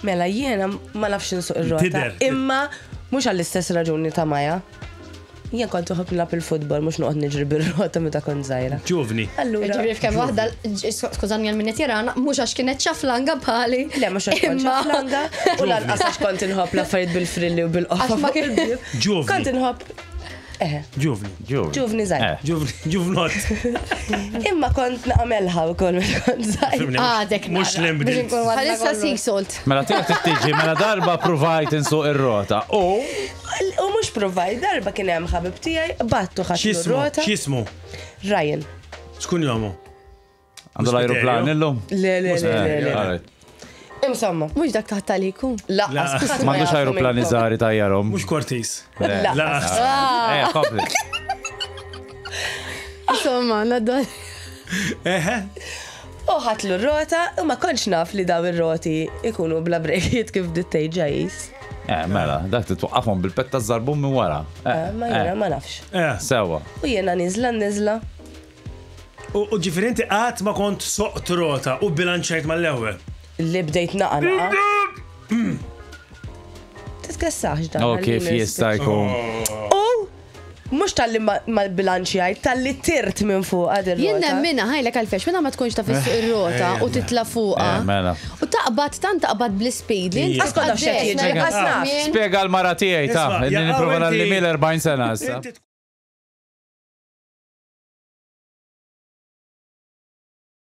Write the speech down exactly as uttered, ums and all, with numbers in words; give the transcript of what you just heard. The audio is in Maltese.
Mela jiena ma nafx insuq ir-rota. Tidher. Imma mhux għall-istess raġuni ta' Maja. Jien kont uħobb nilgħab il-futbol, mhux noqgħod niġri bir-rota meta kont żgħira. Ġuvni. Allura. Ġifieri f'kemm waħda, skużani għal min qed jarana, mhux għax kienet ċaflanga bħali. Le, mhux għax kont Imma- ċaflanga u lanqas għax kont inħobb l-affarijiet bil-frilli u bil-qoffa. Għax ma fuq kien- il-bieb. Ġuvni. Kont inħobb. Eħe, Ġuvni. Ġuvni. ġuvni żgħir. Eh. Ġuvni. Ġuvnot. Imma kont naqmelħa wkoll meta kont żgħir. Fimni, Għadek Mux nara, biex l-imbdilt. inkun għadna Bħalissa kollox. sea salt. Mela tiegħek tiġi mela darba provajt insuq ir-rota. U U mhux provajt, darba kien hemm ħabib tiegħi, battu ħadd X'ismu? rota. X'ismu? Ryan. Xkun jomu? għandu l-ajruplan illum? Le, le, le, le, le. Alright. Insomma, Mhux dak taħt taliku. laqqas. La. ħadd ma M'għandux jafu ajruplani minnkom. żgħar tajjarhom. Mux Cortis. La. La. Eh, kompli. Insomma, naddu. Eħe. U ħadtlu r-rota, u ma kontx naf li daw ir-roti ikunu bla brejkiet kif dittej ġajis. Eh, mela, dak titwaqqafhom bil-petta żarbun minn wara. Eh, Ma jiena ma nafx. Eh. Sewa. U jiena niżla niżla. U u ġifieri inti qatt ma kont soqt rota u bilanċajt mal-ewwel. Li bdejt naqa naqa. Titkessax dan. Oh, kif għallini jista' jkun. U mhux tal-li ma bilanċjajt, tal-li tirt minn fuq għad Jien ir-rota. nemmina ħajlek għalfex, minna ma tkunx taf issuq ir-rota u titla fuqha. Eh, mela. U taqbad tant taqbad bl-speed li inti Għax kont naf x'qed jiġri, tqaddej. għax naf. Spjega l-mara tiegħi ta' Isma' inni jaqaw nipprova inti- nalli mil erbgħin sena issa. Inti